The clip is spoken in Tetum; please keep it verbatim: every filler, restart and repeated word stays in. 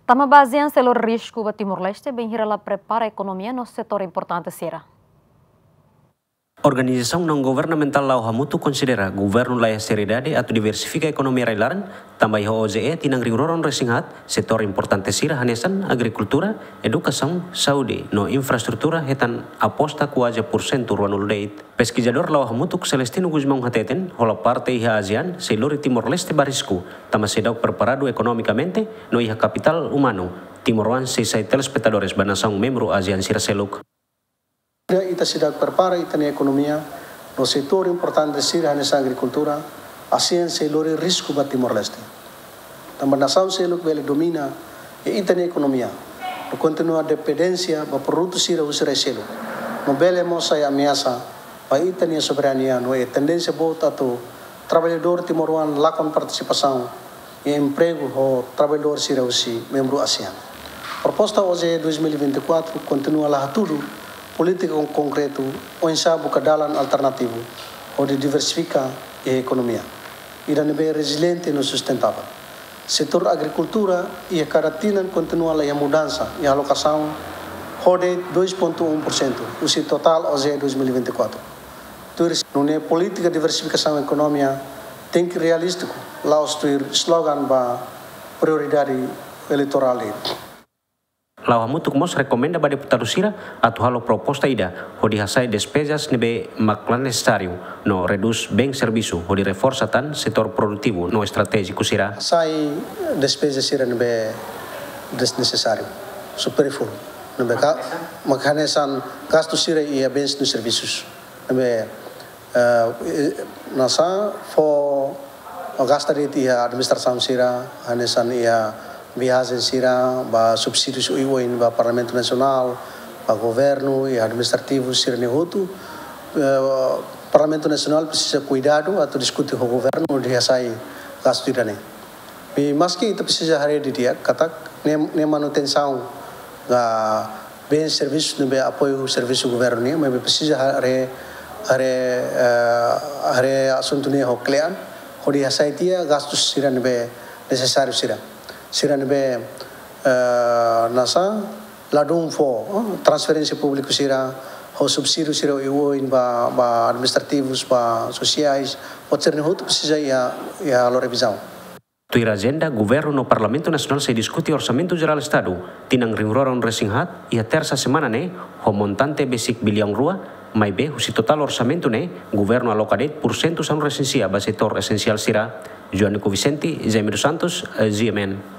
Tanba ASEAN sei lori risku ba Timor-Leste, bainhira la prepara ekonomia no setór importante sira. Organizasaun naun-governamentál La'o Hamutuk konsidera governu laiha seriedade atu diversifika ekonomia rai-laran, tanba iha OJE tinan rihun rua ruanulu-resin-haat, setór importante sira hanesan agrikultura, edukasaun, saúde no infraestrutura hetan aposta kuaze pursentu ruanulu de'it. Peskizadór La'o Hamutuk Celestino Gusmão hateten, hola parte iha ASEAN sei lori Timor-Leste ba risku, tanba seidauk preparadu ekonomikamente no iha kapitál umanu. Timoroan sei sai telespetadores ba nasaun membru ASEAN sira seluk. Ita seidauk prepara ita-nia ekonomia no setór importante sira hanesan agrikultura, ASEAN sei lori risku ba Timor-Leste. Tanba nasaun seluk bele domina iha ita-nia ekonomia no kontinua dependénsia ba produtu sira husi rai seluk. No bele mós sai ameasa ba ita-nia soberania no iha tendénsia boot atu traballadór timoroan lakon partisipasaun iha empregu ho traballadór sira husi membru ASEAN. Proposta OJE dois mil e vinte e quatro kontinua la hatudu polítika kon-, konkretu oinsá buka dalan alternativu hodi diversifika iha ekonomia ida ne'ebé reziliente no sustentável. Setór agrikultura iha kada tinan kontinua la iha mudansa iha alokasaun ho de'it dois ponto um por cento husi totál OJE dois mil e vinte e quatro. Tuir nune'e polítika diversifikasaun ekonomia tenke realístiku, la'ós tuir slogan ba prioridade eleitorál de'it. La'o Hamutuk mós rekomenda ba deputadu sira atu halo proposta ida hodi hasa'e despezas ne'ebé mak la nesesáriu no redús bens servisu hodi reforsa tan setór produtivu no estratéjiku sira. Hasa'e despeza sira ne'ebé desnesesáriu, superfluo, ne'ebé ka-, mak hanesan gastu sira iha bens no servisus. Ne'ebé, eh, eh, nasa fó gasta de'it iha administrasaun sira, hanesan iha viajen sira, ba subsídius oioin ba Parlamentu Nasionál, ba governu, iha administrativu sira-ne'e hotu. Eh, Parlamentu Nasionál presiza kuidadu atu diskute ho governu hodi hasa'e gastu ida-ne'e. I maski ita presiza haree didi'ak katak ne'e, ne'e manutensaun ba bens servisu ne'ebé apoiu servisu governu nian, maibé presiza haree, haree, eh, haree asuntu ne'e ho kle'an, hodi hasa'e tiha gastu sira ne'ebé nesesáriu sira. Sira ne'ebé, eh, nasa, ladún fó, eh, transferénsia públiku sira, ho subsídiu sira oioin ba, ba administrativus, ba sosiais, buat sira-ne'e hotu presiza iha, iha halo revizaun. Tuir ajenda, governu no Parlamentu Nasionál sei diskute Orsamentu Jerál Estadu tinan rihun rua ruanulu-resin-haat iha tersa semana ne'e, ho montante besik biliaun rua, maibé husi totál orsamentu ne'e, governu aloka de'it pursentu sanulu-resin-sia ba setór esensiál sira. Joanico Vicente, Jaime dos Santos, eh, GMN.